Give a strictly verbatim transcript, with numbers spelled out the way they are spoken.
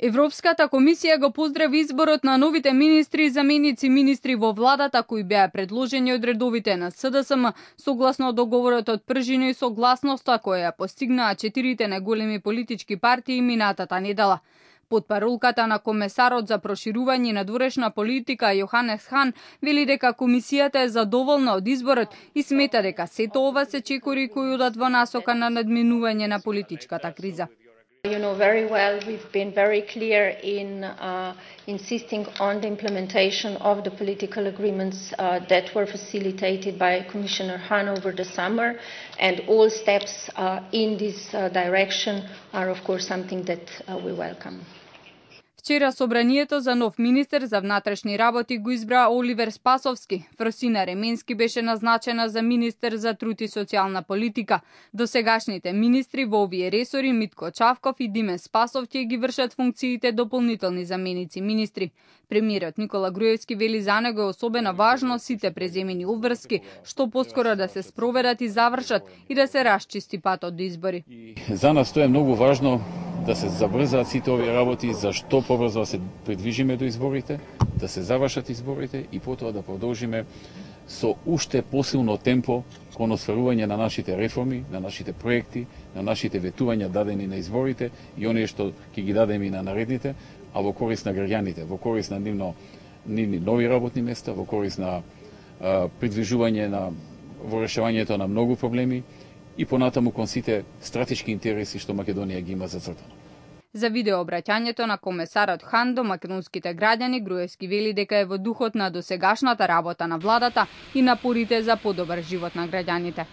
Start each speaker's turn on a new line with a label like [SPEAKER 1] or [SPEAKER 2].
[SPEAKER 1] Европската комисија го поздрави изборот на новите министри и заменици министри во владата кои беа предложени од редовите на С Д С М согласно договорот од пржина и согласноста која ја постигнаа четирите најголеми политички партии минатата недела. Потпаролката на комесарот за проширување и надворешна политика Јоханес Хан вели дека комисијата е задоволна од изборот и смета дека сето ова се чекори кои одат во насока на надминување на политичката криза.
[SPEAKER 2] You know very well we've been very clear in uh, insisting on the implementation of the political agreements uh, that were facilitated by Commissioner Hahn over the summer, and all steps uh, in this uh, direction are of course something that uh, we welcome.
[SPEAKER 1] Вчера собранието за нов министер за внатрешни работи го избра Оливер Спасовски. Фросина Ременски беше назначена за министер за труд и социјална политика. Досегашните министри во овие ресори Митко Чавков и Димен Спасов ќе ги вршат функциите дополнителни заменици министри. Премиерот Никола Груевски вели за него е особено важно сите преземени обврски што поскоро да се спроведат и завршат и да се расчисти патот до избори.
[SPEAKER 3] За нас тоа е многу важно да се забрзаат сите овие работи, за што побрзо да се придвижиме до изборите, да се завршат изборите и потоа да продолжиме со уште посилно темпо кон осварување на нашите реформи, на нашите проекти, на нашите ветувања дадени на изборите и оние што ќе ги дадеме и на наредните, а во корист на граѓаните, во корист на нивно, нивни нови работни места, во корист на а, придвижување на во решавањето на многу проблеми и понатаму кон сите стратешки интереси што Македонија ги има зацртано.
[SPEAKER 1] За видеообраќањето на комесарот Хан до македонските граѓани, Груевски вели дека е во духот на досегашната работа на владата и напорите за подобар живот на граѓаните.